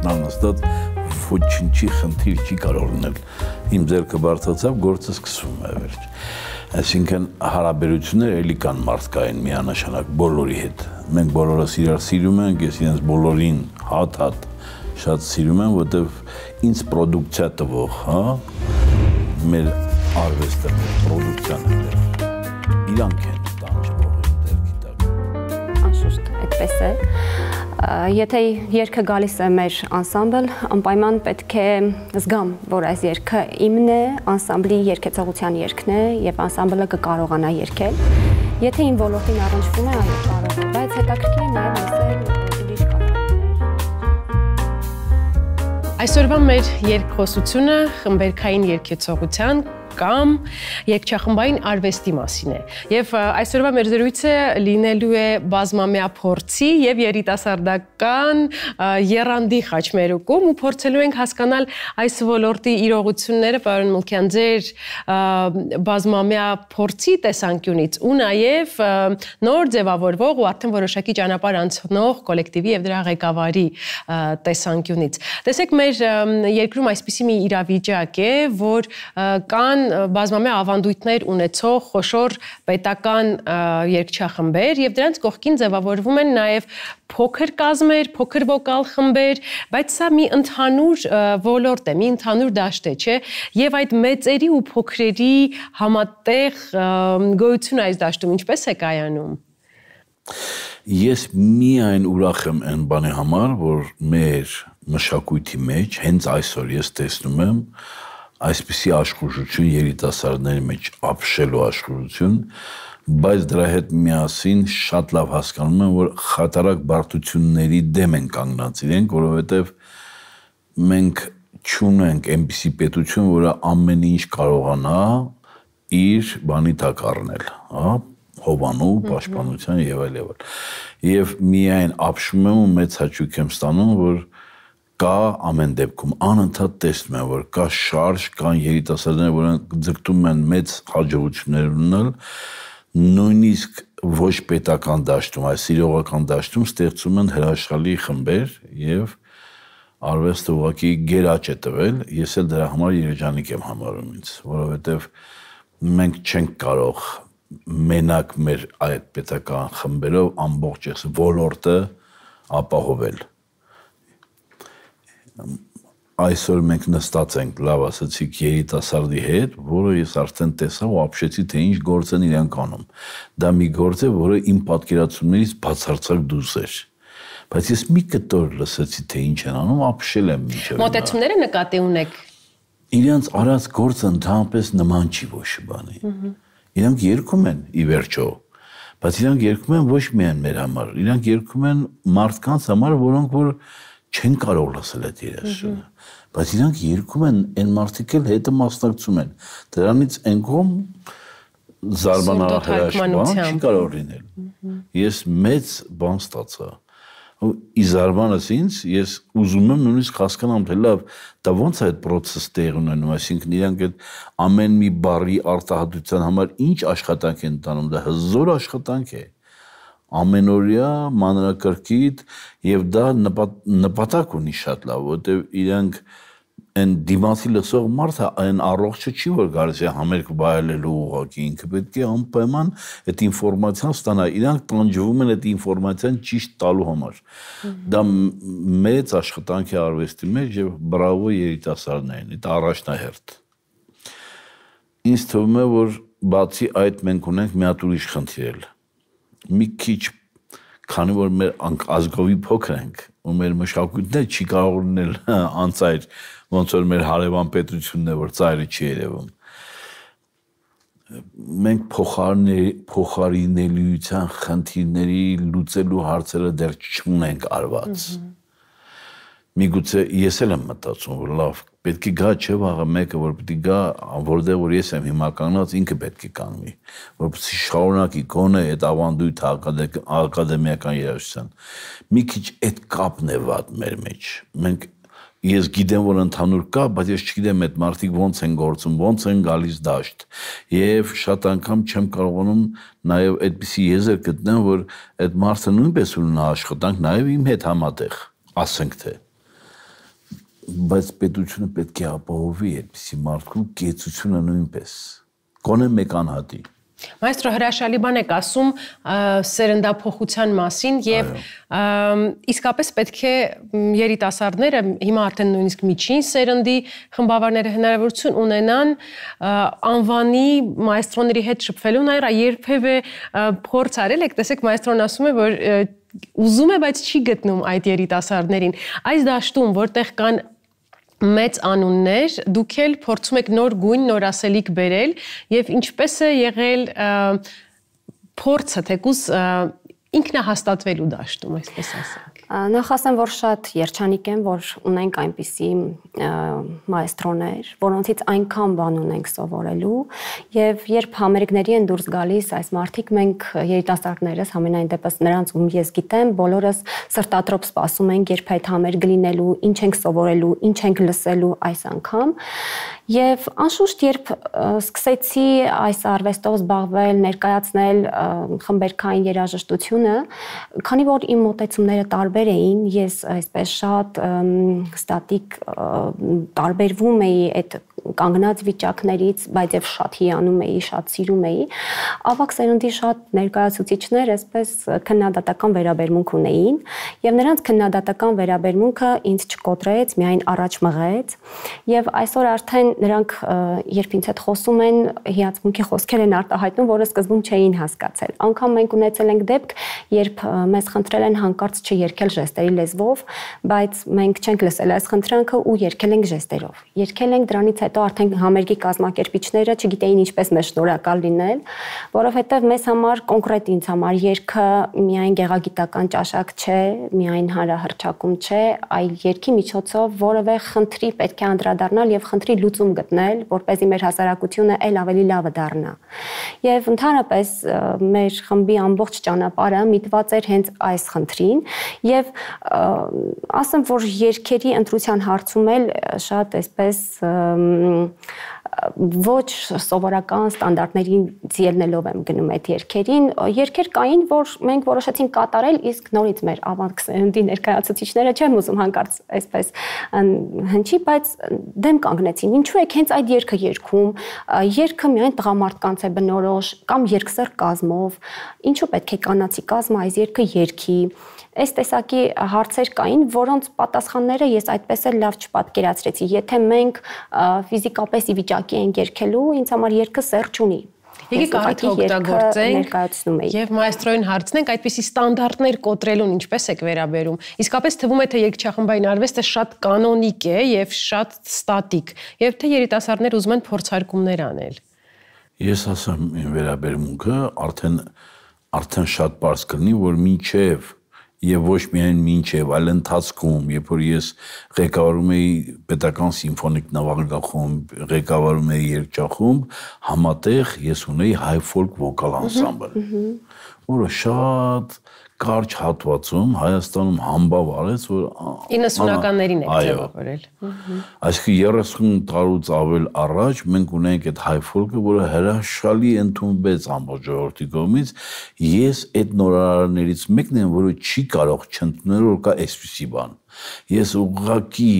Տան նստած ոչինչի խնդիր չի կարող լինել։ Իմ ձեռքը բարձրացավ, գործը սկսվում է վերջ։ Այսինքն հարաբերությունները էլի կան մարդկային միանշանակ բոլորի հետ։ Մենք բոլորս իրար սիրում ենք, ես իրենց բոլորին հատ շատ սիրում եմ, որտեվ ինձ պրոդուկցիա տվող, հա, մեր արվեստը, մեր պրոդուկցիան է դեր։ Իրանք են տանջվող են դերքի տակ։ Անշուշտ, այդպես է։ Եթե երգը գալիս է մեր անսամբլ, անպայման պետք է զգամ, որ այս երգը իմն է, անսամբլի երգեցողության երգն է եւ անսամբլը կկարողանա երգել։ Եթե իմ ոլորտին առնչվում է, այո, կարող է, բայց հետաքրքիր է նաեւ լսել ուրիշ կատարումներ։ Այսօրվա մեր երգխոսությունը խմբերգային երգեցողության կամ երգչախմբային արվեստի մասին է։ Եվ այսօրվա մեր զրույցը լինելու է բազմամյա փորձի եւ երիտասարդական եռանդի խաչմերուկում ու փորձելու ենք հասկանալ այս ոլորտի իրողությունները, պարոն Մլքյան, ձեր բազմամյա փորձի տեսանկյունից ու նաեւ նոր ձևավորվող ու արդեն որոշակի ճանապարհ անցնող կոլեկտիվի եւ դրա ղեկավարի տեսանկյունից։ Տեսեք, մեր երկրում այսպիսի մի իրավիճակ է, որ կան բազմամյա ավանդույթներ ունեցող խոշոր պետական երգչախմբեր եւ դրանց կողքին ձևավորվում են նաեւ փոքր կազմեր, փոքր վոկալ խմբեր, բայց սա մի ընդհանուր ոլորտ է, մի ընդհանուր դաշտ է, չէ՞։ Եվ այդ մեծերի ու փոքրերի համատեղ գոյությունը այս դաշտում ինչպես է կայանում։ Ես միայն ուրախ եմ այն բանի համար, որ մեր մշակույթի մեջ հենց այսօր ես տեսնում եմ այսպիսի աշխուժություն երիտասարդների մեջ ապշելու աշխուժություն, բայց դրա հետ միասին շատ լավ հասկանում եմ, որ խատարակ բարդությունների դեմ են կանգնած իրենք, որովհետև մենք չունենք այնպիսի պետություն, որը ամեն ինչ կարողանա իր բանի տակ առնել, հա, հովանու, պաշտպանության եւ այլ եւ այլ։ Եվ միայն ապշում եմ ու մեծ հաճույք եմ ստանում, որ կա ամեն դեպքում անընդհատ տեսնում եմ, որ կա շարժ, կան երիտասարդներ, որոնք ձգտում են մեծ հաջողություններ ունենալ, նույնիսկ ոչ պետական դաշտում, այս սիրողական դաշտում ստեղծում են հրաշալի խմբեր եւ արվեստը ուղղակի գերաճ է տվել, ես էլ դրա համար երջանիկ եմ համարում ինձ, որովհետեւ մենք չենք կարող մենակ մեր այդ պետական խմբերով ամբողջ այս ոլորտը ապահովել։ Այսօր մենք նստած ենք, լավ ասացիք, երիտասարդի հետ, որը ես արդեն տեսա ու ապշեցի, թե ինչ գործ են իրենք անում։ Դա մի գործ է, որը իմ պատկերացումներից բացարձակ դուրս էր։ Բայց ես մի կտոր լսեցի, թե ինչ են անում, ապշել եմ մինչև։ Մոտեցումները նկատի ունեք։ Իրենց արած գործը ընդհանրապես նման չի ոչ բանի։ Իրանք երգում են ի վերջո, բայց իրանք երգում են ոչ միայն մեր համար, իրանք երգում են մարդկանց համար, որոնք որ չեն կարող լսել այդ երաժշտությունը, բայց իրանք երգում են, այն մարդիկ էլ հետը մասնակցում են, դրանից այն կողմ զարմանալի հրաշքան չի կարող լինել։ Ես մեծ բան ստացա, ի զարմանս ինձ, ես ուզում եմ նույնիսկ հասկանամ, թե լավ, դա ոնց է այդ պրոցեսը տեղի ունենում, այսինքն իրանք այդ ամեն մի բառի արտահայտության համար ինչ աշխատանք են տանում, դա հզոր աշխատանք է, ամենօրյա, մանրակրկիտ եւ դա նպատակ ունի շատ լավ, որտեւ իրանք այն դիմացի լսող մարդը այն առողջը չի, որ գալիս է համերգ բայելելու ուղղակի, ինքը պետք է անպայման այդ ինֆորմացիան ստանա, իրանք տանջվում են այդ ինֆորմացիան ճիշտ տալու համար։ Դա մեծ աշխատանք է արվեստի մեջ եւ բրավո երիտասարդներին, դա առաջնահերթ։ Ինձ թվում է, որ բացի այդ մենք ունենք մի հատ ուրիշ խնդիր, մի քիչ, քանի որ մեր ազգովի փոքր ենք ու մեր մշակույթն չի կարող լինել անծայր, ոնց որ մեր հարևան պետությունն է, որ ծայրը չի երևում։ Մենք փոխարինելիության խնդիրների լուծելու հարցերը դեռ չունենք արված։ Միգուցե ես էլ եմ մտածում, որ լավ, պետք է գա չէ վաղը մեկը, որ պետք է գա, որտեղ որ ես եմ հիմա կանգնած, ինքը պետք է կանգնի, որպեսզի շարունակի գոնե այդ ավանդույթը ակադեմիական երաժշտության։ Մի քիչ այդ կապն է վատ մեր մեջ։ Մենք ես գիտեմ, որ ընդհանուր կա, բայց ես չգիտեմ այդ մարդիկ ոնց են գործում, ոնց են գալիս դաշտ։ Եվ շատ անգամ չեմ կարողանում նաև այդպիսի եզր գտնեմ, որ այդ մարդը նույնպես ունենա աշխատանք նաև իմ հետ համատեղ, ասենք թե։ բայց պետությունը պետք է ապահովի այդպիսի մարդու կեցությունը նույնպես։ Գոնե մեկ անհատի։ Մայստրո հրաշալի բան եք ասում սերնդափոխության մասին եւ իսկապես պետք է երիտասարդները հիմա արդեն նույնիսկ միջին սերնդի խմբավորները հնարավորություն ունենան անվանի մայստրոների հետ շփվելու նայր երբևէ փորձ արել եք, տեսեք մայստրոն ասում է, որ ուզում է, բայց չի գտնում այդ երիտասարդներին։ Այս դաշտում, որտեղ կան մեծ անուններ, դուք էլ փորձում եք նոր գույն, նոր ասելիք բերել եւ ինչպես է եղել փորձը թեկուզ ինքնահաստատվելու դաշտում, այսպես ասենք։ Նախ ասեմ, որ շատ երջանիկ եմ, որ ունենք այնպիսի մայստրոներ, որոնցից այնքան բան ունենք սովորելու եւ երբ համերգների են դուրս գալիս այս մարդիկ, մենք երիտասարդներս համենայն դեպս նրանց ում ես գիտեմ, բոլորս սրտատրոփ սպասում ենք, երբ այդ համերգը լինելու, ինչ ենք սովորելու, ինչ ենք լսելու այս անգամ եւ անշուշտ երբ սկսեցի այս արվեստով զբաղվել, ներկայացնել խմբերքային երաժշտությունը, քանի որ իմ մոտեցումները տարբեր էին, ես այսպես շատ ստատիկ տարբերվում էի այդ կանգնած վիճակներից, բայց եւ շատ հիանում էի, շատ սիրում էի, ավակ սերնդի շատ ներկայացուցիչներ այսպես քննադատական վերաբերմունք ունեին եւ նրանց քննադատական վերաբերմունքը ինձ չկոտրեց, միայն առաջ մղեց եւ այսօր արդեն նրանք երբ ինձ հետ խոսում են, հիացմունքի խոսքեր են արտահայտում, որը սկզբում չէին հասկացել։ Անգամ մենք ունեցել ենք դեպք, երբ մեզ խնդրել են հանկարծ չերգել ժեստերի լեզվով, բայց մենք չենք լսել այս խնդրանքը ու երգել ենք ժեստերով։ Երգել ենք, դրանից հետո արդեն համերգի կազմակերպիչները չգիտեին ինչպես մեզ շնորհակալ լինել, որովհետև մեզ համար կոնկրետ ինձ համար երգը միայն գեղագիտական ճաշակ չէ, միայն հանրահռչակում չէ, այլ երգի միջոցով որևէ խնդրի պետք է անդրադառնալ եւ խնդրի լուծում գտնել, որպեսզի մեր հասարակությունը այլ ավելի լավը դառնա։ Եվ ընդհանրապես մեր խմբի ամբողջ ճանապարհը միտված էր հենց այս խնդրին եւ ասեմ, որ երգերի ընտրության հարցում էլ շատ այսպես ոչ սովորական ստանդարտներից ելնելով եմ գնում այդ երգերին։ Երգեր կային, որ մենք որոշեցինք կատարել, իսկ նորից մեր ավանք սերնդի ներկայացուցիչները չեմ ուզում հանկարծ այսպես հնչի, բայց դեմ կանգնեցին։ Ինչու եք հենց այդ երգը երգում։ Երգը միայն տղամարդկանց է բնորոշ կամ երգսեր կազմով։ Ինչու պետք է կանացի կազմը այս երգը երգի։ Այս տեսակի հարցեր կային, որոնց պատասխանները ես այդպես էլ լավ չպատկերացրեցի։ Եթե մենք ֆիզիկապես ի վիճակի ենք երգելու, ինձ համար երգը սեր չունի։ Եկեք առիթ օգտագործենք եւ մայստրոին հարցնենք այդպիսի ստանդարտներ կոտրելուն ինչպես եք վերաբերում։ Իսկապես թվում է թե երգչախմբային արվեստը շատ կանոնիկ է եւ շատ ստատիկ, եւ թե երիտասարդներ ուզում են փորձարկումներ անել։ Ես ասեմ իմ վերաբերմունքը արդեն շատ པարզ կլինի, որ մինչեւ եւ ոչ միայն մինչեւ, այլ ընթացքում, երբ որ ես ղեկավարում էի պետական սիմֆոնիկ նվագախումբ, ղեկավարում էի երգչախումբ, համատեղ ես ունեի հայ ֆոլք վոկալ անսամբլ, որը շատ կարճ հատվածում Հայաստանում համբավ արեց, որ 90-ականներին եք ձևավորել։ Այսինքն 30 տարուց ավել առաջ մենք ունենք այդ հայ ֆոլկը, որը հրաշալի ընդունվեց ամբողջ ժողովրդի կողմից։ Ես այդ նորարարներից մեկն եմ, որը չի կարող չընդունել, որ կա այսպիսի բան։ Ես ուղղակի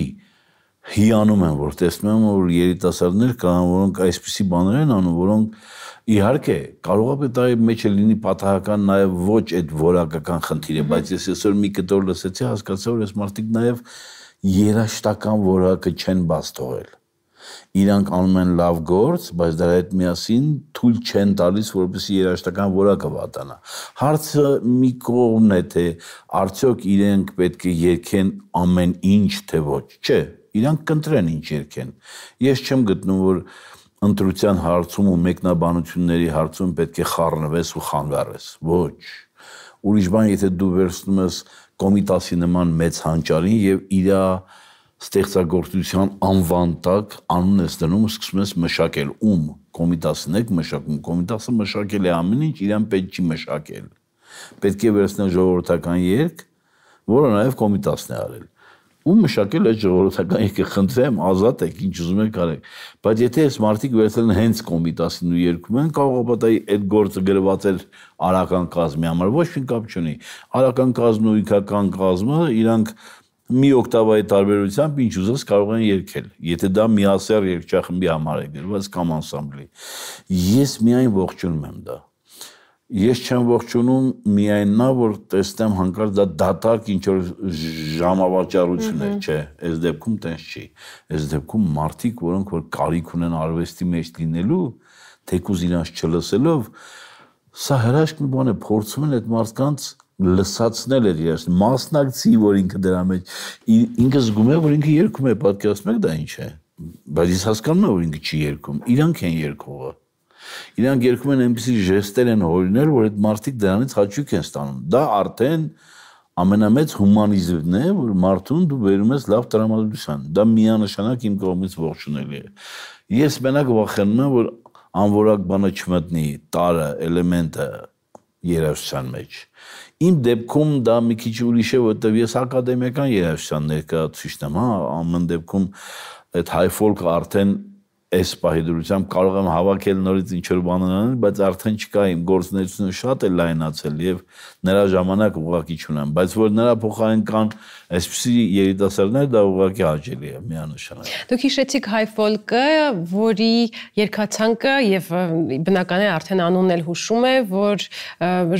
հիանում եմ, որ տեսնում եմ, որ երիտասարդներ կան, որոնք այսպիսի բաներ են անում, որոնք իհարկե կարող է այդ մեջ լինի պատահական նաև ոչ այդ որակական խնդիր է, բայց ես այսօր մի կտոր լսեցի, հասկացա, որ այս մարդիկ նաև երաժշտական որակը չեն բաց թողել։ Իրանք անում են լավ գործ, բայց դրա հետ միասին թույլ չեն տալիս, որպեսզի երաժշտական որակը վատանա։ Հարցը մի կողմն է, թե արդյոք իրենք պետք է երգեն ամեն ինչ, թե ոչ։ Չէ, իրանք կընտրեն ինչ երգեն։ Ես չեմ գտնում, որ ընտրության հարցում ու մեկնաբանությունների հարցում պետք է խառնվես ու խանգարես։ Ոչ։ Ուրիշ բան, եթե դու վերցնում ես Կոմիտասի նման մեծ հանճարին եւ իր ստեղծագործության անվան տակ անուն ես դնում ու սկսում ես մշակել։ Ում Կոմիտասն եք մշակում։ Կոմիտասը մշակել է ամեն ինչ, իրան պետք չի մշակել։ Պետք է վերցնել ժողովրդական երգ, որը նաեւ Կոմիտասն է արել։ Ու մշակել այդ ժողովրդական երգը, խնդրեմ, ազատ եք, ինչ ուզում եք արեք։ Բայց եթե այս մարդիկ վերցել են հենց Կոմիտասին ու երգում են, կարող է պատահի այդ գործը գրված էր արական կազմի համար, ոչ մի կապ չունի։ Արական կազմն ու իքական կազմը իրանք մի օկտավայի տարբերությամբ ինչ ուզես կարող են երգել, եթե դա միասեռ երգչախմբի համար է գրված կամ անսամբլի։ Ես միայն ողջունում եմ դա։ Ես չեմ ողջունում միայն նա, որ տեսնեմ հանկարծ դա դատարկ ինչ-որ ժամավաճառություններ, չէ, այս դեպքում տենց չի։ Այս դեպքում մարդիկ, որոնք որ կարիք ունեն արվեստի մեջ լինելու, թեկուզ իրանց չլսելով, սա հրաշք մի բան է, փորձում են այդ մարդկանց լսացնել էր իրաց, մասնակցի, որ ինքը դրա մեջ, ինքը զգում է, որ ինքը երգում է, պատկերացնում եք դա ինչ է, բայց ես հասկանում եմ, որ ինքը չի երգում, իրանք են երգողը, իրանք երգում են այնպիսի ժեստեր են հորինել, որ այդ մարդիկ դրանից հաճույք են ստանում, դա արդեն ամենամեծ հումանիզմն է, որ մարդուն դու բերում ես լավ տրամադրության, դա միանշանակ իմ կողմից ողջունելի է, ես մենակ վախենում եմ, որ անորակ բանը չմտնի, տարը, էլեմենտը երաժշտության մեջ։ Իմ դեպքում դա մի քիչ ուրիշ է, որտեղ ես ակադեմիական երաժշտության ներկայացուցիչն եմ, հա, ամեն դեպքում այդ հայ ֆոլքը արդեն այս պահի դրությամբ կարող եմ հավաքել նորից ինչ-որ բաներ անել, բայց արդեն չկա իմ գործունեությունը շատ է լայնացել եւ նրա ժամանակ ուղղակի չունեմ, բայց որ նրա փոխարեն կան այսպիսի երիտասարդներ, դա ուղղակի հաճելի է, միանշանակ։ Դուք հիշեցիք հայ ֆոլկը, որի երգացանկը եւ բնական է արդեն անունն էլ հուշում է, որ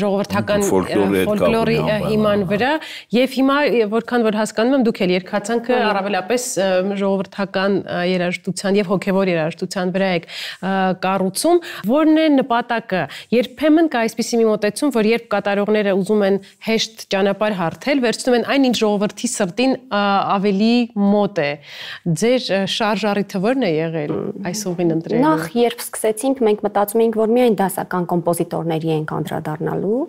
ժողովրդական ֆոլկլորի հիման վրա եւ հիմա որքան որ հասկանում եմ, դուք էլ երգացանկը առավելապես ժողովրդական երաժշտության եւ հոգեվոր երաժշտության վրա եք կառուցում, որն է նպատակը։ Երբեմն կա այսպիսի մի մոտեցում, որ երբ կատարողները ուզում են հեշտ ճանապարհ հարթել, վերցնում են այն ինչ ժողովրդի սրտին ավելի մոտ է։ Ձեր շարժառիթը ո՞րն է եղել այս ուղին ընտրելու։ Նախ երբ սկսեցինք, մենք մտածում էինք, որ միայն դասական կոմպոզիտորների ենք անդրադառնալու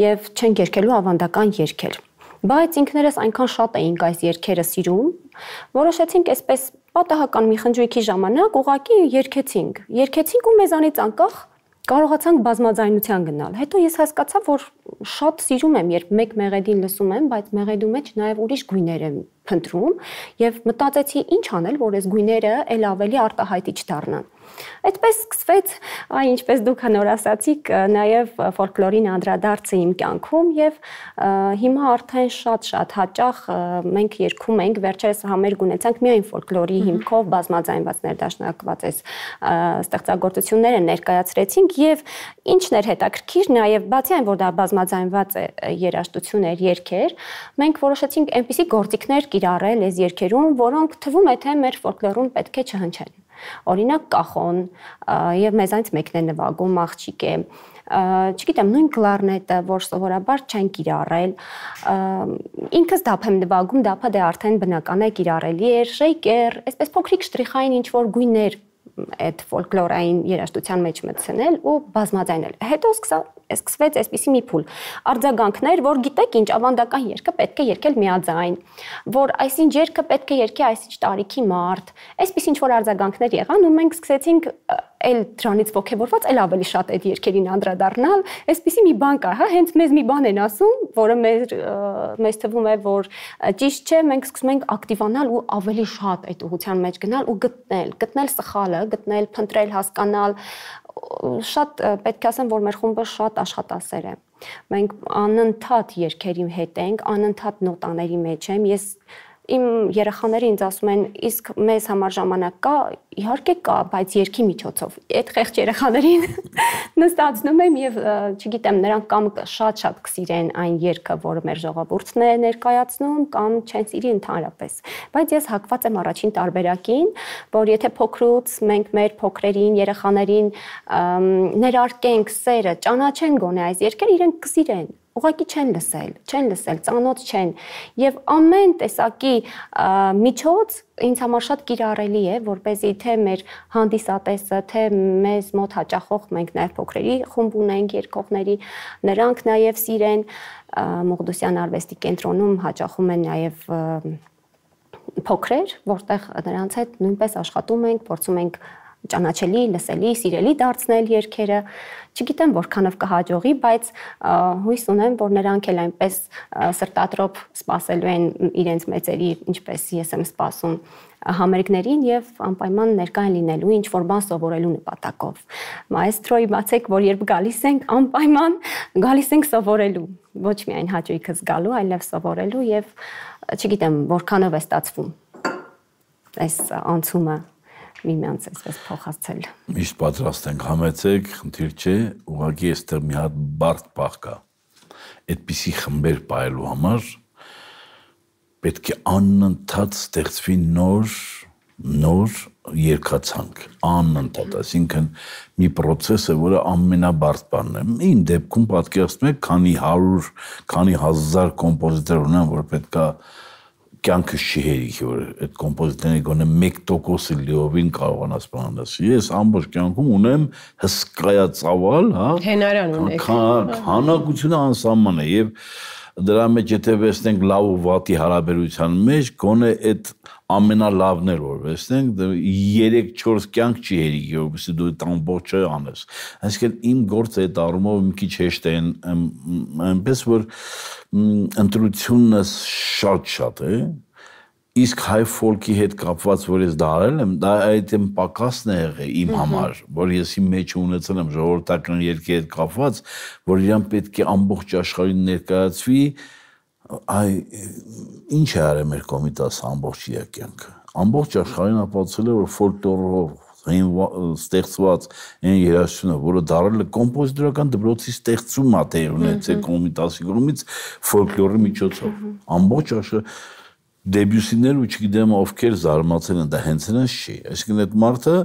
եւ չենք երգելու ավանդական երգեր։ Բայց ինքներս այնքան շատ էինք այս երգերը սիրում, որոշեցինք այսպես պատահական մի խնջույքի ժամանակ ուղղակի երգեցինք ու մեզանից անկախ կարողացանք բազմաձայնության գնալ։ Հետո ես հասկացա, որ շատ սիրում եմ, երբ մեկ մեղեդին լսում եմ, բայց մեղեդու մեջ նաև ուրիշ գույներ եմ փնտրում եւ մտածեցի ինչ անել, որ այս գույները ել ավելի արտահայտիչ դառնան։ Այդպես սկսվեց, ինչպես դուք նոր ասացիք, նաև ֆոլկլորին անդրադարձը իմ կյանքում եւ հիմա արդեն շատ հաճախ մենք երգում ենք, վերջերս համերգ ունեցանք միայն ֆոլկլորի հիմքով բազմաձայնված ներդաշնակված այս ստեղծագործությունները ներկայացրեցինք եւ ինչն էր հետաքրքիր, նաև բացի այն, որ դա բազմաձայնված երաժշտություն էր, երգեր, մենք որոշեցինք այնպիսի գործիքներ կիրառել այս երգերում, որոնք թվում է թե մեր ֆոլկլորում պետք է չհնչեն։ Օրինակ կախոն եւ մեզանից մեկն է նվագում, աղջիկ է, չգիտեմ, նույն կլարնետը, որ սովորաբար չեն կիրառել, ինքս դափ եմ նվագում, դափը դե արդեն բնական է կիրառելի էր, շեյկեր, այսպես փոքրիկ շտրիխային ինչ-որ գույներ այդ ֆոլկլորային երաժշտության մեջ մտցնել ու բազմաձայնել։ Հետո սկսվեց այսպիսի մի փուլ արձագանքներ, որ գիտեք ինչ, ավանդական երգը պետք է երգել միաձայն, որ այսինչ երգը պետք է երգի այսինչ տարիքի մարդ, այսպես ինչ որ արձագանքներ եղան ու մենք սկսեցինք էլ դրանից ողջավորված էլ ավելի շատ այդ երգերին անդրադառնալ, այսպիսի մի բան կա, հա, հենց մեզ մի բան են ասում, որը մեզ թվում է, որ ճիշտ չէ, մենք սկսում ենք ակտիվանալ ու ավելի շատ այդ ուղղության մեջ գնալ ու գտնել սխալը, գտնել, փնտրել, հասկանալ, շատ պետք է ասեմ, որ մեր խումբը շատ աշխատասեր է։ Մենք անընդհատ երգերի հետ ենք, անընդհատ նոտաների մեջ եմ, ես իմ երեխաները ինձ ասում են, իսկ մեզ համար ժամանակ կա, իհարկե կա, բայց երգի միջոցով։ Այդ խեղճ երեխաներին նստացնում եմ եւ չգիտեմ, նրանք կամ շատ կսիրեն այն երգը, որը մեր ժողովուրդն է ներկայացնում, կամ չեն սիրի ընդհանրապես։ Բայց ես հակված եմ առաջին տարբերակին, որ եթե փոքրուց մենք մեր փոքրերին, երեխաներին ներարկենք սերը, ճանաչեն գոնե այս երգերը, իրենք կսիրեն։ Ուղղակի չեն լսել, ծանոթ չեն եւ ամեն տեսակի միջոց ինձ համար շատ կիրառելի է, որպեսզի թե մեր հանդիսատեսը, թե մեզ մոտ հաճախող մենք նաեւ փոքրերի խումբ ունենք երգողների, նրանք նաեւ սիրեն Մողդոսյան արվեստի կենտրոնում հաճախում են նաեւ փոքրեր, որտեղ նրանց հետ նույնպես աշխատում ենք, փորձում ենք ճանաչելի, լսելի, սիրելի դարձնել երգերը, չգիտեմ որքանով կհաջողի, բայց հույս ունեմ, որ նրանք էլ այնպես սրտատրոփ սպասելու են իրենց մեծերի, ինչպես ես եմ սպասում համերգներին եւ անպայման ներկա են լինելու ինչ որ բան սովորելու նպատակով։ Մայստրոյի բացեք, որ երբ գալիս ենք, անպայման գալիս ենք սովորելու։ ոչ միայն հաճույքը զգալու, այլև սովորելու եւ չգիտեմ, որքանով է ստացվում այս անցումը միմյանց այսպես փոխացել։ Միշտ պատրաստ ենք, համեցեք, խնդիր չէ, ուղղակի այստեղ մի հատ բարդ պահ կա։ Այդպիսի խմբեր պահելու համար պետք է անընդհատ ստեղծվի նոր երկացանք, անընդհատ, այսինքն մի process է, որը ամենաբարդ բանն է։ Իմ դեպքում պատկերացնում եք, քանի 100, քանի 1000 կոմպոզիտոր ունեմ, որ պետքա կյանքս չի հերիքի, որ այդ կոմպոզիտորների գոնե 1%-ը լիովին կարողանաս բանանաս։ Ես ամբողջ կյանքում ունեմ հսկայածավալ, հա, հենարան ունեք։ Քանակությունը անսահման է եւ դրա մեջ եթե վերցնենք լավ ու վատի հարաբերության մեջ, գոնե այդ ամենալավն էր որ վերցնենք 3-4 կյանք չի հերիքի, որովհետեւ դու այդ ամբողջը անես։ Այսինքն իմ գործը այդ առումով մի քիչ հեշտ է, այնպես որ ընտրությունը շատ է, իսկ հայ ֆոլքի հետ կապված որ ես դա արել եմ, դա այդ իմ պակասն է եղել իմ համար, որ ես իմ մեջ ունեցել եմ ժողովրդական երգի հետ կապված, որ իրան պետք է ամբողջ աշխարհին ներկայացվի, այ ինչ է արել մեր կոմիտասը ամբողջ իր կյանքը։ Ամբողջ աշխարհին ապացուցել է, որ ֆոլկլորով ստեղծված այն երաժշտությունը, որը դարել է կոմպոզիտորական դպրոցի ստեղծում է տեղ ունեցել կոմիտասի կողմից ֆոլկլորի միջոցով։ Ամբողջ աշխարհ դեբյուսիներ ու չգիտեմ ովքեր զարմացել են, դա հենց նրանց չի։ Այսինքն այդ մարդը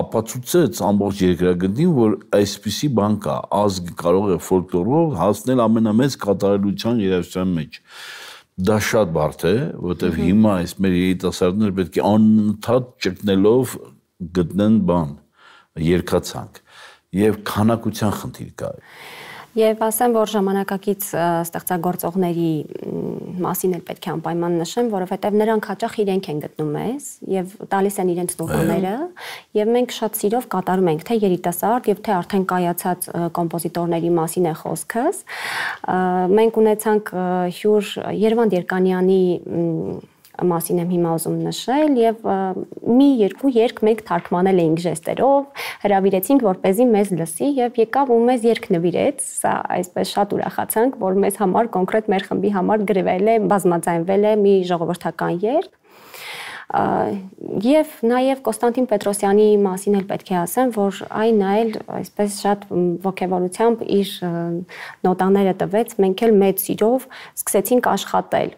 ապացուցեց ամբողջ երկրագնդին, որ այսպիսի բան կա, ազգը կարող է ֆոլկլորով հասնել ամենամեծ կատարելության երաժշտության մեջ։ Դա շատ բարդ է, որովհետև հիմա այս մեր երիտասարդները պետք է անընդհատ ճգնելով գտնեն բան, երկացանք եւ քանակության խնդիր կա։ Եվ ասեմ, որ ժամանակակից ստեղծագործողների մասին էլ պետք է անպայման նշեմ, որովհետև նրանք հաճախ իրենք են գտնում մեզ եւ տալիս են իրենց տուղաները եւ մենք շատ սիրով կատարում ենք թե երիտասարդ եւ թե արդեն կայացած կոմպոզիտորների մասին է խոսքս։ Մենք ունեցանք հյուր Երվանդ Երկանյանի մասին եմ հիմա ուզում նշել եւ մի երկու երգ մենք թարգմանել էինք ժեստերով, հրավիրեցինք որպեսզի մեզ լսի եւ եկավ ու մեզ երգ նվիրեց, սա այսպես շատ ուրախացանք, որ մեզ համար կոնկրետ մեր խմբի համար գրվել է, բազմաձայնվել է մի ժողովրդական երգ։ Եվ նաև Կոստանտին Պետրոսյանի մասին էլ պետք է ասեմ, որ այն այլ այսպես շատ ոգևորությամբ իր նոտաները տվեց, մենք էլ մեծ սիրով սկսեցինք աշխատել։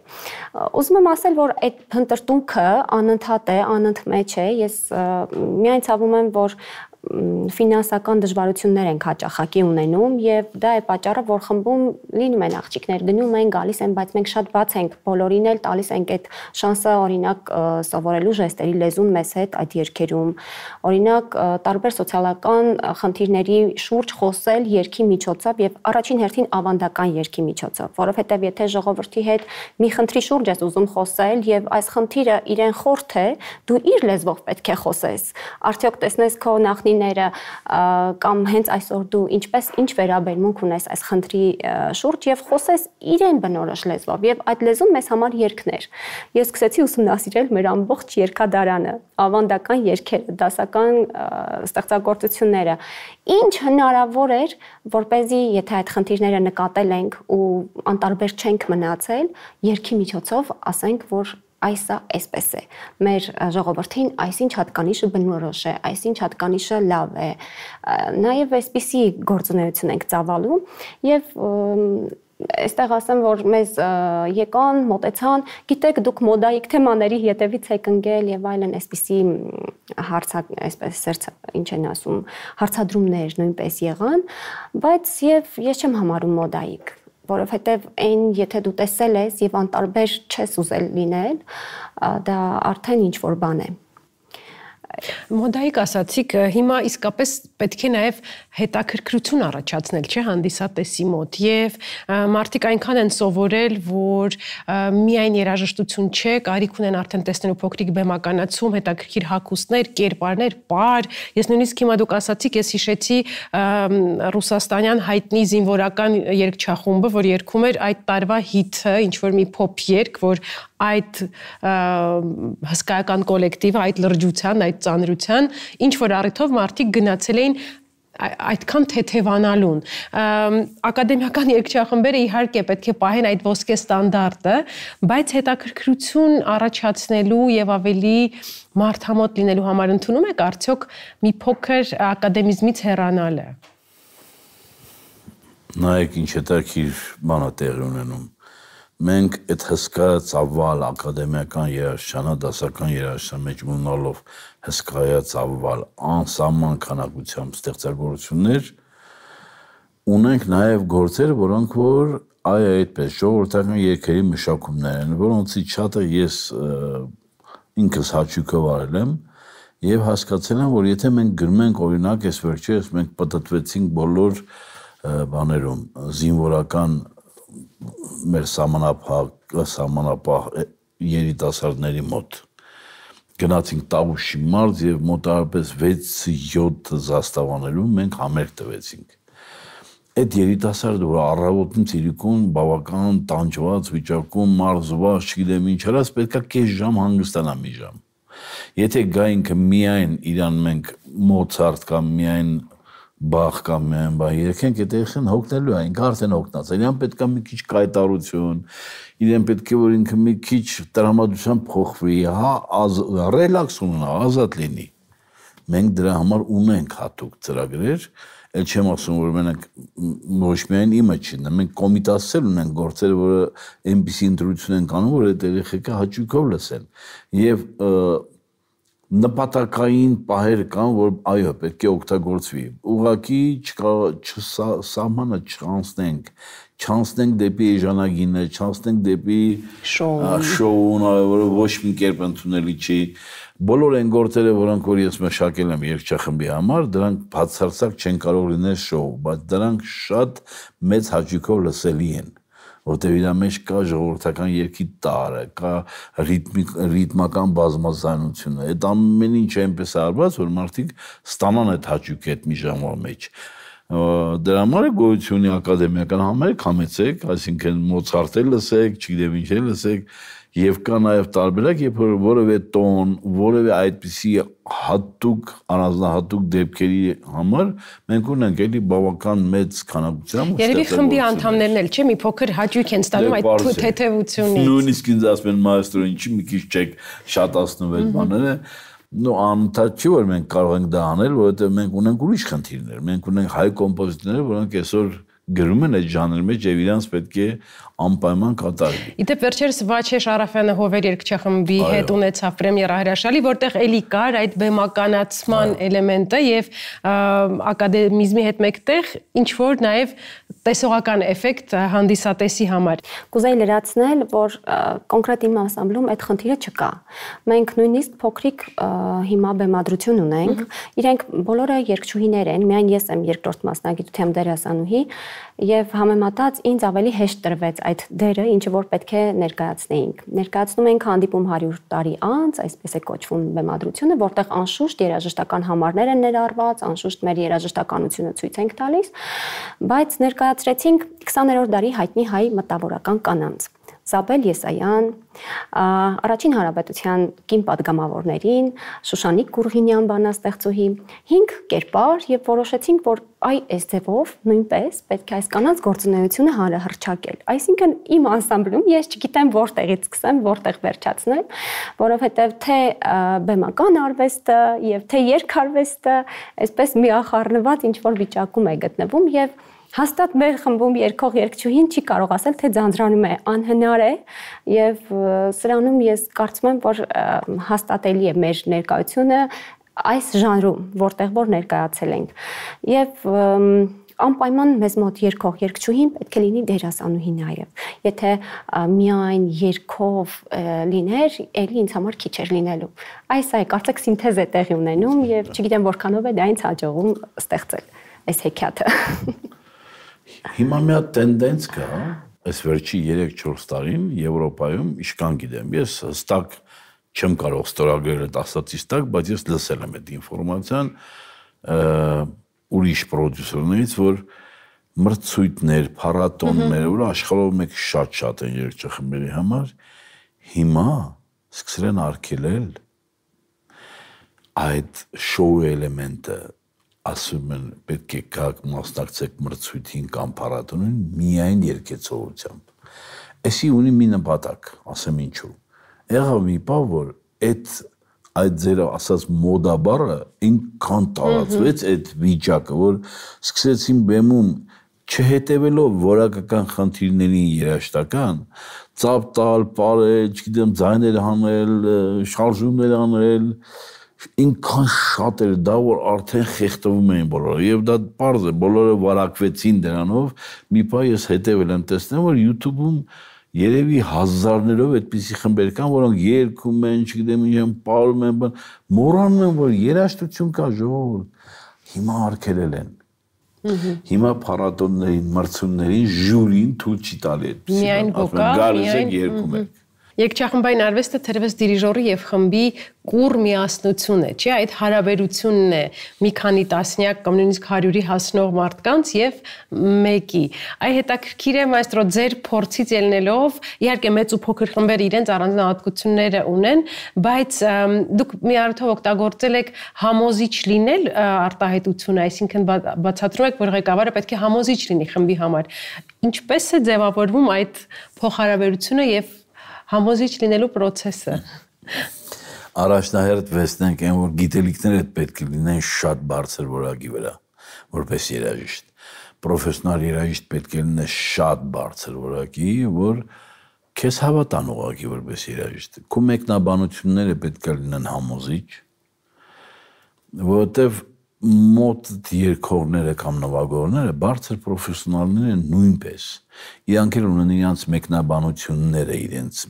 Ուզում եմ ասել, որ այդ փնտրտուքը անընդհատ է, անընդմեջ է, ես միայն ցավում եմ, որ ֆինանսական դժվարություններ ենք հաճախակի ունենում եւ դա է պատճառը, որ խմբում լինում են աղջիկներ, գնում են, գալիս են, բայց մենք շատ բաց ենք, բոլորին էլ տալիս ենք այդ շանսը, օրինակ սովորելու ժեստերի լեզուն մեզ հետ այդ երգերում, օրինակ տարբեր սոցիալական խնդիրների շուրջ խոսել երգի միջոցով եւ առաջին հերթին ավանդական երգի միջոցով, որովհետեւ եթե ժողովրդի հետ մի խնդրի շուրջ ես ուզում խոսել եւ այս խնդիրը իրեն խորթ է, դու իր լեզվով պետք է խոսես, արդյոք տեսնես քո նախնի կամ հենց այսօր դու ինչ վերաբերմունք ունես այս խնդրի շուրջ եւ խոսես իրեն բնորոշ լեզվով եւ այդ լեզուն մեզ համար երգներ։ Ես սկսեցի ուսումնասիրել մեր ամբողջ երգադարանը, ավանդական երգերը, դասական ստեղծագործությունները։ Ինչ հնարավոր էր, որպեսզի եթե այդ խնդիրները նկատել ենք ու անտարբեր չենք մնացել, երգի միջոցով ասենք, որ այսա այսպես է։ Մեր ժողովրդին այսինչ հատկանիշը բնորոշ է, այսինչ հատկանիշը լավ է։ Նաև այսպիսի գործունեություն ենք ծավալում եւ այստեղ ասեմ, որ մեզ եկան, մոտեցան, գիտեք, դուք մոդայիկ թեմաների հետևից եք ընկել եւ այլն, այսպիսի այսպես ինչ են ասում, հարցադրումներ նույնպես եղան, բայց եւ ես չեմ համարում մոդայիկ, որովհետև այն եթե դու տեսել ես եւ անտարբեր չես ուզել լինել, դա արդեն ինչ որ բան է։ Մոդայիկ ասացիք, հիմա իսկապես պետք է նաև հետաքրքրություն առաջացնել, չէ՞, հանդիսատեսի մոտ եւ մարդիկ այնքան են սովորել, որ միայն երաժշտություն չէ, կարիք ունեն արդեն տեսնելու փոքրիկ բեմականացում, հետաքրքիր հագուստներ, կերպարներ, պար։ Ես նույնիսկ հիմա դուք ասացիք, ես հիշեցի ռուսաստանյան հայտնի զինվորական երգչախումբը, որ երգում էր այդ տարվա հիթը, ինչ որ մի փոփ երգ, որ այդ հսկայական կոլեկտիվը, այդ լրջության, այդ ծանրության, ինչ որ առիթով մարդիկ գնացել էին այդքան թեթևանալուն։ Ակադեմիական երգչախմբերը իհարկե պետք է պահեն այդ ոսկե ստանդարտը, բայց հետաքրքրություն առաջացնելու եւ ավելի մարդամոտ լինելու համար ընդունում եք արդյոք մի փոքր ակադեմիզմից հեռանալը։ Նայեք ինչ հետաքրքիր բան է տեղի ունենում։ Մենք այդ հսկա ծավալ ակադեմիական երաժշտանա, դասական երաժշտության մեջ ունենալով հսկայա ծավալ անսահման քանակությամբ ստեղծագործություններ, ունենք նաև գործեր, որոնք որ այդպես ժողովրդական երգերի մշակումներ են, որոնցից շատը ես ինքս հաճույքով արել եմ եւ հասկացել եմ, որ եթե մենք գրում ենք օրինակ, այս վերջերս մենք պատտվեցինք բոլոր բաներում զինվորական մեր սահմանապահ երիտասարդների մոտ գնացինք Տավուշի մարզ եւ մոտավորապես 6-7 զաստավաներում մենք համերգ տվեցինք։ Այդ երիտասարդը, որ առավոտից իրիկուն բավական տանջված վիճակում, մարզված, չգիտեմ ինչ արած, պետքա կես ժամ հանգստանա մի ժամ։ Եթե գա ինքը միայն իրան մենք Մոցարտ կամ միայն Բախ կամ միայն բա երգենք, այդ երգեն հոգնելու է, ինքը արդեն հոգնած է, իրան պետք է մի քիչ կայտարություն, իրեն պետք է որ ինքը մի քիչ տրամադրությամբ փոխվի, ռելաքս ունենա, ազատ լինի։ Մենք դրա համար ունենք հատուկ ծրագրեր, էլ չեմ ասում, որ մենք ոչ միայն իմը չի, մենք կոմիտասեր ունենք գործեր, որը այնպիսի ընտրություն են կանում, որ այդ երեխեքը հաճույքով լսեն։ Եվ նպատակային պահեր կան, որ այո, պետք է օգտագործվի։ Ուղղակի սահմանը չանցնենք դեպի էժանագինը, չանցնենք դեպի շոուն, որը ոչ մի կերպ ընդունելի չի։ Բոլոր այն գործերը, որոնք որ ես մշակել եմ երգչախմբի համար, դրանք բացարձակ չեն կարող լինել շոու, բայց դրանք շատ մեծ հաճույքով լսելի են։ Որտեղ իր մեջ կա ժողովրդական երգի տարը, կա ռիթմական բազմազանությունը, այդ ամեն ինչ այնպես արված, որ մարդիկ ստանան այդ հաճույքը այդ մի ժամվա մեջ։ Դրա համար է գոյություն ունի ակադեմիական համերգ, համեցեք, այսինքն Մոցարտը լսեք, չգիտեմ ինչ լսեք, եւ կա նաեւ տարբերակ, երբ որ որևէ տոն, որևէ այդպիսի հատուկ, առանձնահատուկ դեպքերի համար մենք ունենք էլի բավական մեծ քանակությամբ։ Երևի խմբի անդամներն էլ չէ, մի փոքր հաճույք են ստանում այդ թեթևությունից։ Նույնիսկ ինձ ասում են մայստրո, ինչի մի քիչ չեք շատացնում այդ բաները։ Նո անընդհատ չի որ մենք կարող ենք դա անել, որովհետեւ մենք ունենք ուրիշ խնդիրներ։ Մենք ունենք հայ կոմպոզիտորներ, որոնք այսօր գրում են այդ ժանրի մեջ եւ իրանց պետք է անպայման կատարվի։ Իդեպ վերջերս Վաչե Շարաֆյանը Հովեր երգչախմբի հետ ունեցավ պրեմիերա հրաշալի, որտեղ էլի կար այդ բեմականացման էլեմենտը եւ ակադեմիզմի հետ մեկտեղ ինչ որ նաեւ տեսողական էֆեկտ հանդիսատեսի համար։ Կուզեի լրացնել, որ կոնկրետ իմ անսամբլում այդ խնդիրը չկա։ Մենք նույնիսկ փոքրիկ հիմա բեմադրություն ունենք, իրենք բոլորը երգչուհիներ են, միայն ես եմ երկրորդ մասնագիտությամբ դերասանուհի եւ համեմատած ինձ ավելի հեշտ տրվեց այդ դերը, ինչը որ պետք է ներկայացնեինք։ Ներկայացնում ենք հանդիպում 100 տարի անց, այսպես է կոչվում բեմադրությունը, որտեղ անշուշտ երաժշտական համարներ են ներառված, անշուշտ մեր երաժշտականությունը ցույց ենք տալիս, բայց ներկայացրեցինք 20-րդ դարի հայտնի հայ մտավորական կանանց։ Զաբել Եսայան, առաջին հանրապետության կին պատգամավորներին, Շուշանիկ Գուրգինյան բանաստեղծուհի, 5 կերպար եւ որոշեցինք, որ այս ձևով նույնպես պետք է այս կանանց գործունեությունը հանրահռչակել։ Այսինքն իմ անսամբլում ես չգիտեմ որտեղից սկսեմ, որտեղ վերջացնեմ, որովհետեւ թե բեմական արվեստը եւ թե երգարվեստը այսպես միախառնված ինչ որ վիճակում է գտնվում եւ հաստատ մեր խմբում երգող երգչուհին չի կարող ասել, թե ձանձրանում է, անհնար է եւ սրանում ես կարծում եմ, որ հաստատելի է մեր ներկայությունը այս ժանրում, որտեղ որ ներկայացել ենք։ Եվ անպայման մեզ մոտ երգող երգչուհին պետք է լինի դերասանուհի նաեւ։ Եթե միայն երգով լիներ, ելի ինձ համար քիչ էր լինելու։ Այս այ կարծեք սինթեզ է տեղի ունենում եւ չգիտեմ որքանով է դա ինձ հաջողում ստեղծել այս հեքիաթը։ Հիմա մի հատ տենդենս կա, այս վերջի 3-4 տարին Եվրոպայում, իշքան գիտեմ, ես հստակ չեմ կարող ստորագրել այդ ասածից տակ, բայց ես լսել եմ այդ ինֆորմացիան ուրիշ պրոդյուսերներից, որ մրցույթներ, փառատոններ, որ աշխարհով մեկ շատ են երգչախմբերի համար, հիմա սկսել են արգելել այդ շոու էլեմենտը, ասում են պետք է գաք մասնակցեք մրցույթին կամ փառատոնին միայն երգեցողությամբ։ Էսի ունի մի նպատակ, ասեմ ինչու։ Եղավ մի բան, որ այդ ձեր ասած մոդա բառը ինքան տարածվեց այդ վիճակը, որ սկսեցին բեմում չհետևելով որակական խնդիրներին երաժշտական, ծափ տալ, պարել, չգիտեմ, ձայներ հանել, շարժումներ անել, ինքան շատ էր դա, որ արդեն խեղդվում էին բոլորը, եւ դա պարզ է, բոլորը վարակվեցին դրանով, մի բան ես հետևել եմ տեսնել, որ YouTube-ում երևի հազարներով այդպիսի խմբեր կան, որոնք երգում են, չգիտեմ ինչ են, պարում են, մոռանում են, որ երաժշտություն կա, ժողովուրդ, հիմա արգելել են։ Հիմա փառատոններին, մրցումներին ժյուրին թույլ չի տալի այդպիսի։ Միայն վոկալ, գալիս եք երգում եք։ Երգչախմբային արվեստը թերևս դիրիժորի եւ խմբի կուր միասնություն է, չէ՞, այդ հարաբերությունն է մի քանի տասնյակ կամ նույնիսկ 100-ի հասնող մարդկանց եւ մեկի։ Այ հետաքրքիր է, մայստրո, ձեր փորձից ելնելով, իհարկե մեծ ու փոքր խմբերը իրենց առանձնահատկությունները ունեն, բայց դուք մի առիթով օգտագործել եք համոզիչ լինել արտահայտությունը, այսինքն բացատրում եք, որ ղեկավարը պետք է համոզիչ լինի խմբի համար։ Ինչպես է ձևավորվում այդ փոխհարաբերությունը եւ համոզիչ լինելու process-ը։ Առաջնահերթ վստենք այն, որ գիտելիքները պետք է լինեն շատ բարձր որակի վրա, որպես երաժիշտ։ Պրոֆեսիոնալ երաժիշտ պետք է լինի շատ բարձր որակի, որ քեզ հավատան ուղղակի որպես երաժիշտ։ Քո մեկնաբանությունները պետք է լինեն համոզիչ, որովհետև մոտ երգողները կամ նվագողները բարձր պրոֆեսիոնալներ են նույնպես։ Իրանք էլ ունեն իրենց մեկնաբանությունները իրենց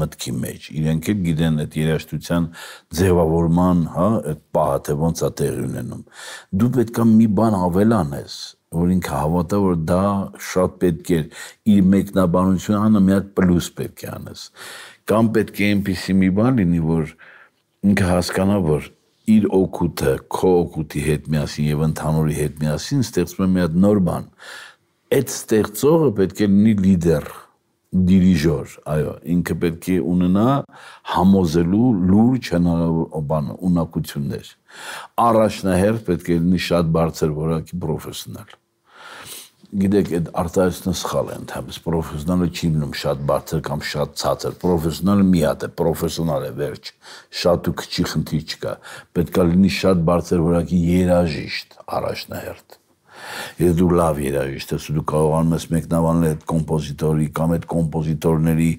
մտքի մեջ։ Իրենք էլ գիտեն այդ երաժշտության ձևավորման, այդ պահը թե ոնց է տեղի ունենում։ Դու պետք է մի բան ավելանես, որ ինքը հավատա, որ դա շատ պետք է իր մեկնաբանությունը անը մի հատ պլյուս պետք է անես։ Կամ պետք է այնպիսի մի բան լինի, որ ինքը հասկանա, որ իր օգուտը, քո օգուտի հետ միասին եւ ընդհանուրի հետ միասին ստեղծում է մի հատ նոր բան։ Այդ ստեղծողը պետք է լինի լիդեր, դիրիժոր, այո, ինքը պետք է ունենա համոզելու լուրջ հնարավոր ունակություններ։ Առաջնահերթ պետք է լինի շատ բարձր որակի պրոֆեսիոնալ։ Գիտեք, այդ արտահայտությունը սխալ է, ընդհանրապես պրոֆեսիոնալը չի լինում շատ բարձր կամ շատ ցածր, պրոֆեսիոնալը մի հատ է, պրոֆեսիոնալ է, վերջ, շատ ու քչի խնդիր չկա, պետք է լինի շատ բարձր որակի երաժիշտ առաջնահերթ։ Եթե դու լավ երաժիշտ ես, դու կարողանում ես մեկնաբանել այդ կոմպոզիտորի կամ այդ կոմպոզիտորների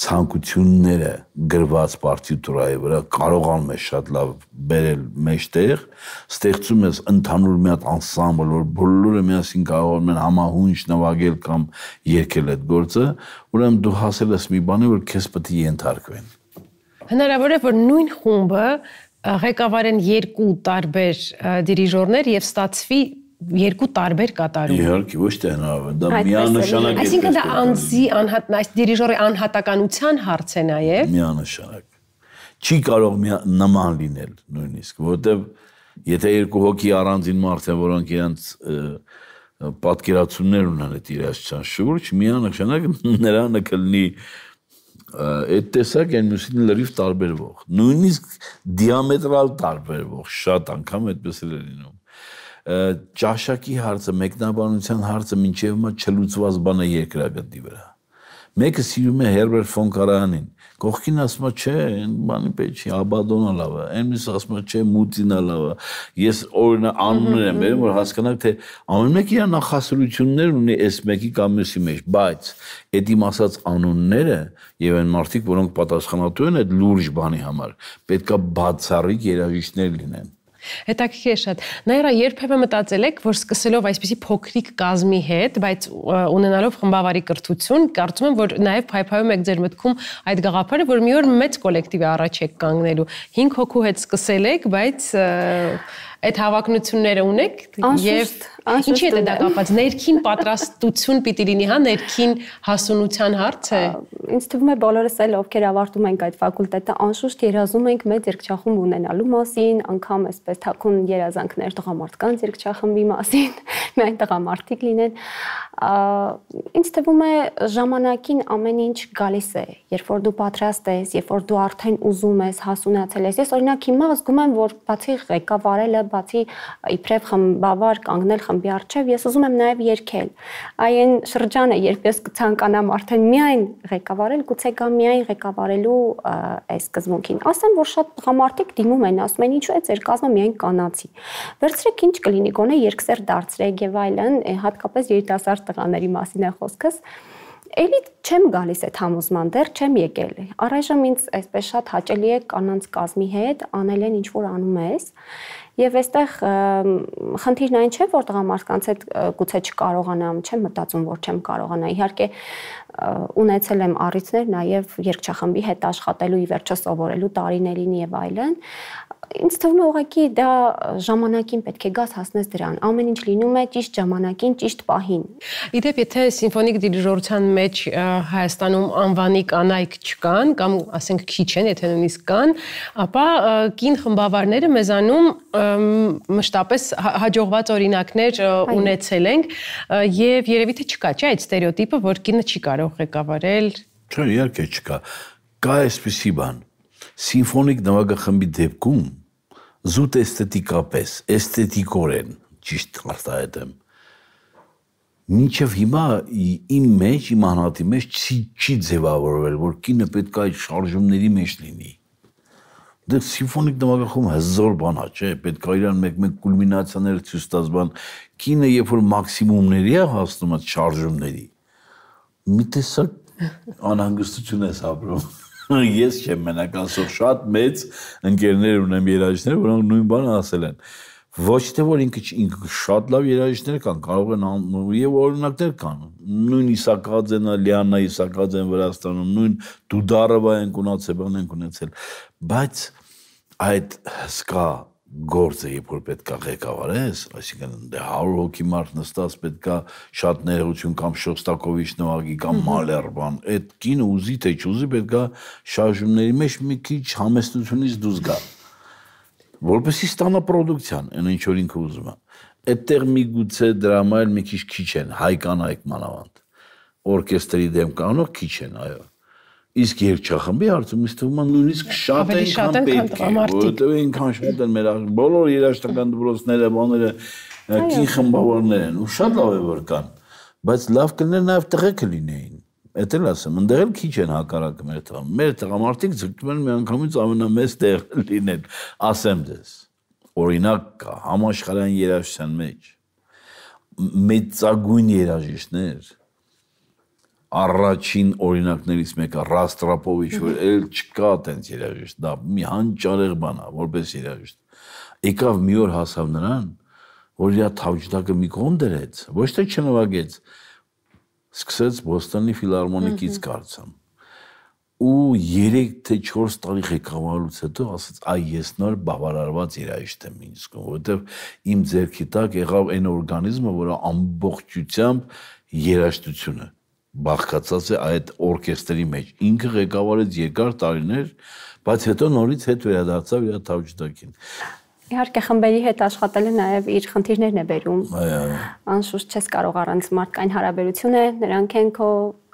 ցանկությունները գրված պարտիտուրայի վրա, կարողանում ես շատ լավ բերել մեջտեղ, ստեղծում ես ընդհանուր մի հատ անսամբլ, որ բոլորը միասին կարողանում են համահունչ նվագել կամ երգել այդ գործը, ուրեմն դու հասել ես մի բանի, որ քեզ պետք է ենթարկվեն։ Հնարավոր է, որ նույն խումբը ղեկավարեն երկու տարբեր դիրիժորներ եւ ստացվի երկու տարբեր կատարում։ Իհարկե, ոչ թե հնարավոր, դա միանշանակ է։ Այսինքն դա անձի այս դիրիժորի անհատականության հարց է նաև։ Միանշանակ։ Չի կարող նման լինել նույնիսկ, որովհետև եթե երկու հոգի առանձին մարդ են, որոնք իրենց պատկերացումներ ունեն այդ երաժշտության շուրջ, միանշանակ նրանը կլինի այդ տեսակ են մյուսին լրիվ տարբերվող, նույնիսկ դիամետրալ տարբերվող, շատ անգամ այդպես էլ է լինում։ Ճաշակի հարցը, մեկնաբանության հարցը մինչև հիմա չլուծված բան է երկրագնդի վրա։ Մեկը սիրում է Հերբերտ ֆոն Կարայանին, կողքին ասում է, չէ, այն բանի պետք չի, Աբադոնը լավ է, այն մյուսը ասում է, չէ, Մուտինը լավ է։ Ես օրինակ անուններ եմ բերում, որ հասկանաք, թե ամեն մեկը իր նախասիրություններ ունի այս մեկի կամ մյուսի մեջ, բայց այդ իմ ասած անունները եւ այն մարդիկ, որոնք պատասխանատու են այդ լուրջ բանի համար, պետքա բացառիկ երաժիշտներ լինեն։ Հետաքրքիր է շատ։ Նաիրա, երբևէ մտածել եք, որ սկսելով այսպիսի փոքրիկ կազմի հետ, բայց ունենալով խմբավարի կրթություն, կարծում եմ, որ նաև փայփայում եք ձեր մտքում այդ գաղափարը, որ մի օր մեծ կոլեկտիվի առաջ եք կանգնելու։ 5 հոգու հետ սկսել եք, բայց այդ հավակնությունները ունեք եւ ինչի է դա կապված, ներքին պատրաստություն պիտի լինի, հա, ներքին հասունության հարց է։ Ինձ թվում է բոլորս էլ ովքեր ավարտում ենք այդ ֆակուլտետը, անշուշտ երազում ենք մեծ երգչախումբ ունենալու մասին, անգամ այսպես թաքուն երազանքներ տղամարդկանց երգչախմբի մասին, միայն տղամարդիկ լինեն։ Ինձ թվում է ժամանակին ամեն ինչ գալիս է, երբ որ դու պատրաստ ես, երբ որ դու արդեն ուզում ես, հասունացել ես։ Ես օրինակ հիմա զգում եմ, որ բացի ղեկավարելը, բացի իբրև խմբավար կանգնել խմբի առջև, ես ուզում եմ նաև երգել։ Այն շրջանը, երբ ես կցանկանամ արդեն միայն ղեկավարել, գուցե գա միայն ղեկավարելու այս սկզբունքին։ Ասեմ, որ շատ տղամարդիկ դիմում են, ասում են, ինչու է ձեր կազմը միայն կանացի։ Վերցրեք ինչ կլինի, գոնե երկսեր դարձրեք եւ այլն, հատկապես երիտասարդ տղաների մասին է խոսքս։ Էլի չեմ գալիս այդ համոզման, դեռ չեմ եկել։ Առայժմ ինձ այսպես շատ հաճելի է կանանց կազմի հետ անել են ինչ որ անում ես, եւ այստեղ խնդիրն այն չէ, որ տղամարդկանց հետ գուցե չկարողանամ, չեմ մտածում, որ չեմ կարողանա։ Իհարկե ունեցել եմ առիթներ նաեւ երգչախմբի հետ աշխատելու, ի վերջո սովորելու տարիներին եւ այլն։ Ինձ թվում է ուղղակի դա ժամանակին պետք է գաս հասնես դրան։ Ամեն ինչ լինում է ճիշտ ժամանակին, ճիշտ պահին։ Իդեպ եթե սիմֆոնիկ դիրիժորության մեջ Հայաստանում անվանի կանայք չկան կամ ասենք քիչ են, եթե նույնիսկ կան, ապա կին խմբավարները մեզանում մշտապես հաջողված օրինակներ ունեցել ենք եւ երևի թե չկա, չէ՞ այդ ստերեոտիպը, որ կինը չի կարող ղեկավարել։ Չէ, իհարկե չկա։ Կա այսպիսի բան։ Սիմֆոնիկ նվագախմբի դեպքում զուտ էսթետիկապես, էսթետիկորեն, ճիշտ արտահայտեմ, մինչև հիմա իմ մեջ, իմ անհատի մեջ չի ձևավորվել, որ կինը պետք է այդ շարժումների մեջ լինի։ Դե սիմֆոնիկ նվագախումբը հզոր բան է, չէ, պետք է իրան մեկ-մեկ կուլմինացիաներ ցույց տաս բան, կինը երբ որ մաքսիմումների է հասնում այդ շարժումների, մի տեսակ անհանգստություն ես ապրում։ Ես չեմ մենակ ասող շատ մեծ ընկերներ ունեմ երաժիշտներ, որոնք նույն բանը ասել են։ Ոչ թե որ ինքը շատ լավ երաժիշտներ կան, կարող են եւ օրինակներ կան։ Նույն Իսակաձենը, Լիաննա Իսակաձեն Վրաստանում, նույն Դուդարովա են ունեցել, բայց այդ հսկա գործը երբ որ պետք է ղեկավարես, այսինքն 100 հոգի մարդ նստած պետք է շատ ներողություն կամ Շոստակովիչ նվագի կամ Մալեր բան, այդ կինը ուզի թե չուզի պետք է շարժումների մեջ մի քիչ համեստությունից դուրս գա, որպեսզի ստանա պրոդուկցիան, այն ինչ որ ինքը ուզում է։ Այդտեղ միգուցե դրամա էլ մի քիչ են, հայ կանայք մանավանդ, օրկեստրի դեմ կանոնով քիչ են, այո։ Իսկ երգչախմբի հարցում ինձ թվում է նույնիսկ շատ են պետք է, որովհետև այնքան շատ են մեր բոլոր երաժշտական դպրոցները, բաները, կին խմբավորներ են, ու շատ լավ է որ կան, բայց լավ կլիներ նաև տղեկ լինեին։ Էդ էլ ասեմ, ընդեղ էլ քիչ են հակառակը մեր տղա։ Մեր տղամարդիկ ձգտում են միանգամից ամենամեծ տեղ լինել, ասեմ ձեզ։ Օրինակ կա համաշխարհային երաժշտության մեջ մեծագույն երաժիշտներ, առաջին օրինակներից մեկը Ռաստրապովիչ, որ էլ չկա այդպես երաժիշտ, դա մի հանճարեղ բան է, որպես երաժիշտ։ Եկավ մի օր հասավ նրան, որ իր թավջդակը մի կողմ դրեց, ոչ թե չնվագեց, սկսեց Բոստոնի ֆիլհարմոնիկից կարծեմ։ Ու 3 թե 4 տարի ղեկավարելուց հետո ասաց, այ ես նոր բավարարված երաժիշտ եմ ինձ զգում, որովհետև իմ ձեռքի տակ եղավ այն օրգանիզմը, որը ամբողջությամբ երաժշտությունը բաղկացած է այդ օրկեստրի մեջ։ Ինքը ղեկավարեց երկար տարիներ, բայց հետո նորից հետ վերադարձավ իր թավջդակին։ Իհարկե խմբերի հետ աշխատելը նաև իր խնդիրներն է բերում։ Այո։ Անշուշտ չես կարող առանց մարդկային հարաբերություն է, նրանք են քո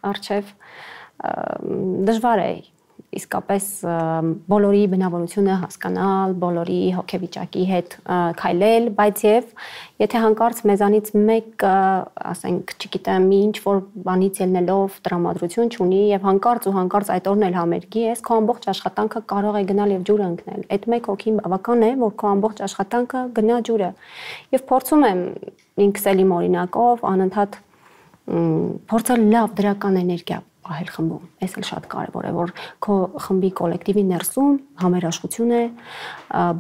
առջև դժվար է իսկապես բոլորի բնավորությունը հասկանալ, բոլորի հոգեվիճակի հետ քայլել, բայց եւ եթե հանկարծ մեզանից մեկը, ասենք, չգիտեմ, ինչ որ բանից ելնելով տրամադրություն չունի եւ հանկարծ այդ օրն էլ համերգի ես, քո ամբողջ աշխատանքը կարող է գնալ եւ ջուրը ընկնել։ Այդ մեկ հոգին բավական է, որ քո ամբողջ աշխատանքը գնա ջուրը։ Եվ փորձում եմ ինքս էլ իմ օրինակով անընդհատ փորձել լավ դրական էներգիա ահել խմբում, այս էլ շատ կարևոր է, որ քո խմբի կոլեկտիվի ներսում համերաշխություն է,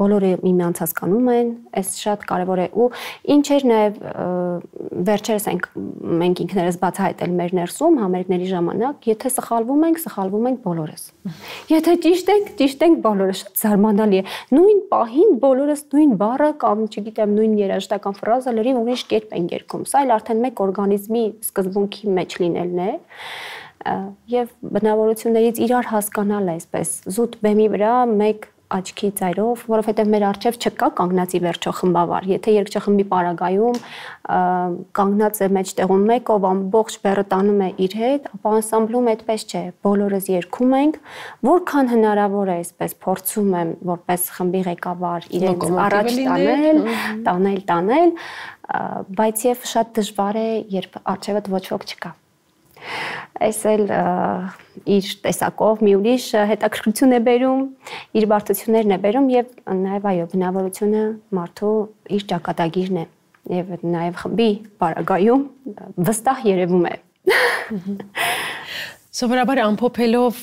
բոլորը միմյանց հասկանում են, այս շատ կարևոր է ու ինչեր նաև վերջերս մենք ինքներս բացահայտել մեր ներսում համերգների ժամանակ, եթե սխալվում ենք բոլորս։ Եթե ճիշտ ենք բոլորը, շատ զարմանալի է։ Նույն պահին բոլորս նույն բառը կամ չգիտեմ նույն երաժշտական ֆրազը լրիվ ուրիշ կերպ են երգում։ Սա էլ արդեն մեկ օրգանիզմի սկզբունքի մեջ լինելն է։ Եվ բնավորություններից իրար հասկանալ այսպես զուտ բեմի վրա մեկ աչքի ծայրով, որովհետև մեր առջև չկա կանգնածի վերջո խմբավար։ Եթե երգչախմբի պարագայում կանգնած է մեջտեղում մեկ, ով ամբողջ բեռը տանում է իր հետ, ապա անսամբլում այդպես չէ։ Բոլորս երգում ենք, որքան հնարավոր է, այսպես փորձում եմ որպես խմբի ղեկավար իրենց առաջ տանել, բայց եւ շատ դժվար է, երբ առջևդ ոչ ոք չկա։ Այս էլ իր տեսակով մի ուրիշ հետաքրքրություն է բերում, իր բարդություններն է բերում եւ նաեւ այո, բնավորությունը մարդու իր ճակատագիրն է եւ նաեւ խմբի պարագայում վստահ երևում է։ Սովորաբար ամփոփելով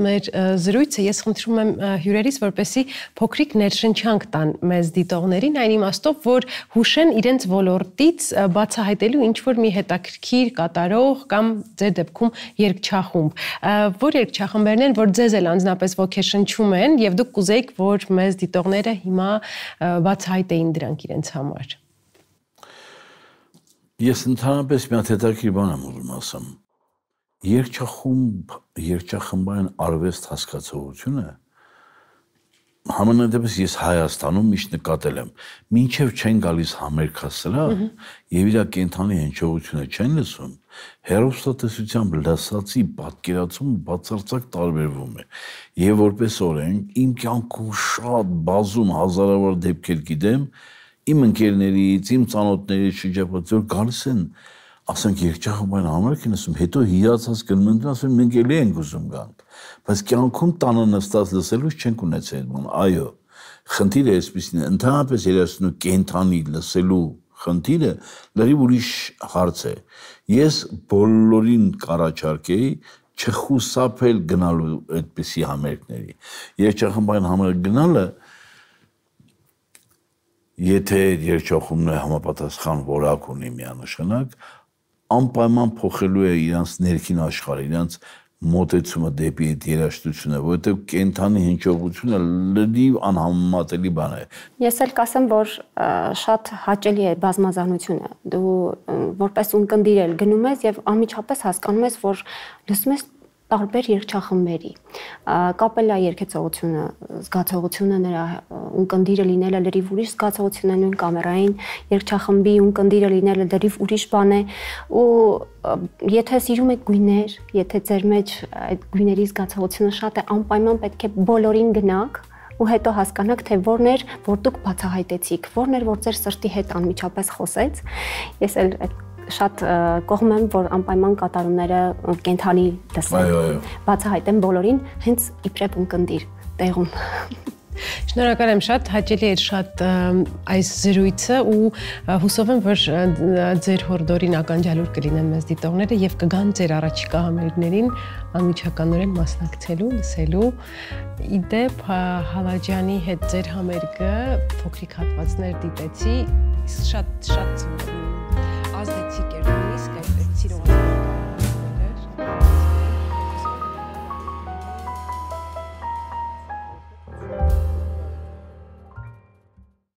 մեր զրույցը ես խնդրում եմ հյուրերից, որպեսզի փոքրիկ ներշնչանք տան մեզ դիտողներին, այն իմաստով, որ հուշեն իրենց ոլորտից բացահայտելու ինչ-որ մի հետաքրքիր կատարող կամ ձեր դեպքում երգչախումբ։ Որ երգչախմբերն են, որ ձեզ էլ անձնապես ոգեշնչում են եւ դուք կուզեիք, որ մեզ դիտողները հիմա բացահայտեին դրանք իրենց համար։ Ես ընդհանրապես մի հատ հետաքրքիր բան եմ ուզում ասեմ։ Երգչախմբային արվեստ հասկացողությունը համենայնդեպս ես Հայաստանում միշտ նկատել եմ, մինչև չեն գալիս համերգասրահ եւ իր կենթանի հնչողությունը չեն լսում, հեռուստատեսությամբ լսածի պատկերացումը բացարձակ տարբերվում է։ Եվ որպես օրենք իմ կյանքում շատ բազում հազարավոր դեպքեր գիտեմ, իմ ընկերներից, իմ ծանոթներից շրջապատից որ գալիս են ասենք երգչախմբային համերգ են ասում, հետո հիացած գնում են, ասում մենք էլի ենք ուզում գանք, բայց կյանքում տանը նստած լսելուց չենք ունեցել այդ բանը։ Այո, խնդիրը այսպեսին է, ընդհանրապես երաժշտությունը կենթանի լսելու խնդիրը լրիվ ուրիշ հարց է։ Ես բոլորին կառաջարկեի չխուսափել գնալու այդպիսի համերգների։ Երգչախմբային համերգ գնալը եթե երգչախումբը համապատասխան որակ ունի միանշանակ, անպայման փոխելու է իրանց ներքին աշխարհը, իրանց մոտեցումը դեպի այդ երաժշտությունը, որովհետև կենթանի հնչողությունը լրիվ անհամեմատելի բան է։ Ես էլ կասեմ, որ շատ հաճելի է բազմազանությունը։ Դու որպես ունկնդիր էլ գնում ես եւ անմիջապես հասկանում ես, որ լսում ես տարբեր երգչախմբերի։ Կապելա երգեցողությունը, զգացողությունը նրա ունկնդիրը լինելը լրիվ ուրիշ զգացողություն է, նույն կամերային երգչախմբի ունկնդիրը լինելը լրիվ ուրիշ բան է, ու եթե սիրում եք գույներ, եթե ձեր մեջ այդ գույների զգացողությունը շատ է, անպայման պետք է բոլորին գնաք ու հետո հասկանաք, թե որն էր, որ դուք բացահայտեցիք, որն էր, որ ձեր սրտի հետ անմիջապես խոսեց։ Ես էլ շատ կողմ եմ, որ անպայման կատարումները կենթանի լսեն, բացահայտեն բոլորին, հենց իբրև ունկնդիր տեղում։ Շնորհակալ եմ շատ, հաճելի էր շատ այս զրույցը ու հուսով եմ, որ ձեր հորդորին ականջալուր կլինեն մեզ դիտողները եւ կգան ձեր առաջիկա համերգներին անմիջականորեն մասնակցելու, լսելու։ Իդեպ Հալաջյանի հետ ձեր համերգը փոքրիկ հատվածներ դիտեցի, շատ ազդեցիկ էր։